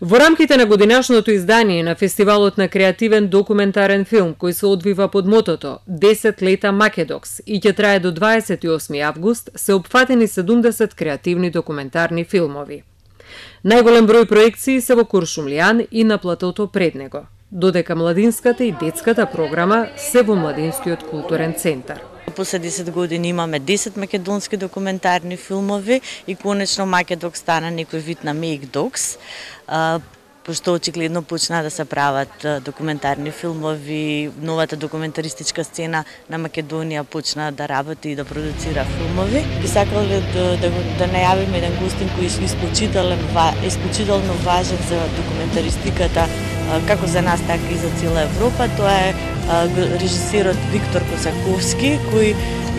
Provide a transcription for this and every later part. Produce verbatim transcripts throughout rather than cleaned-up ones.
Во рамките на годинашното издание на Фестивалот на креативен документарен филм, кој се одвива под мотото десет лета Македокс и ќе трае до дваесет и осми август, се опфатени седумдесет креативни документарни филмови. Најголем број проекции се во Куршумлијан и на платото пред него, додека младинската и детската програма се во Младинскиот културен центар. После десет години имаме десет македонски документарни филмови и конечно Македокс стана некој вид на Мейкдокс, пошто очигледно почна да се прават документарни филмови, новата документаристичка сцена на Македонија почна да работи и да продуцира филмови. Би сакале да, да, да најавиме еден гостин кој е исклучително, исклучително важен за документаристиката, како за нас, така и за цела Европа. Тоа е режисерот Виктор Косаковски, кој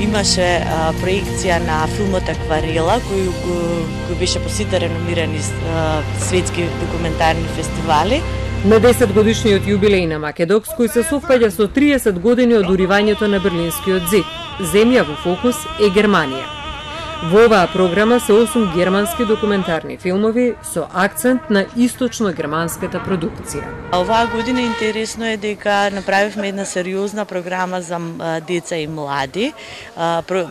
имаше а, проекција на филмот Акварела, кој, кој беше посета реномирани а, светски документарни фестивали. На десет годишниот јубилеј на Македокс, кој се совпаѓа со триесет години од уривањето на Берлинскиот зид, земја во фокус е Германија. Во оваа програма се осум германски документарни филмови со акцент на источно-германската продукција. Оваа година интересно е дека направивме една сериозна програма за деца и млади.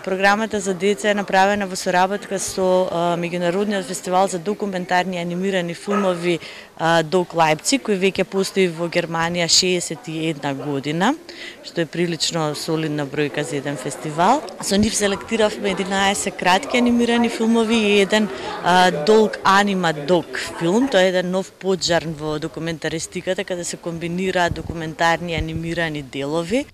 Програмата за деца е направена во соработка со Меѓународниот фестивал за документарни анимирани филмови Док Лајпциг, кој веќе постои во Германија шеесет и една година, што е прилично солидна бројка за еден фестивал. Со нив селектиравме единаесет кратки анимирани филмови и еден а, долг анима док филм. Тоа е еден нов поджарн во документаристиката, каде се комбинираат документарни анимирани делови.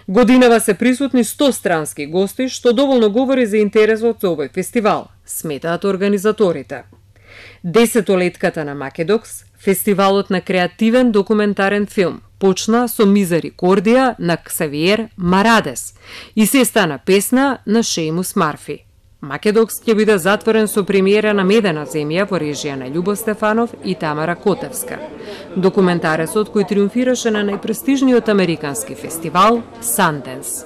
Годинава се присутни сто странски гости, што доволно говори за интересот за овој фестивал, сметаат организаторите. Десетолетката на Македокс, фестивалот на креативен документарен филм, почна со Мизерикордија на Ксавиер Марадес и се стана песна на Шејмус Марфи. Македокс ќе биде затворен со премиера на Медена земја во режија на Љубо Стефанов и Тамара Котевска. Документаресот кој триумфираше на најпрестижниот американски фестивал Санденс.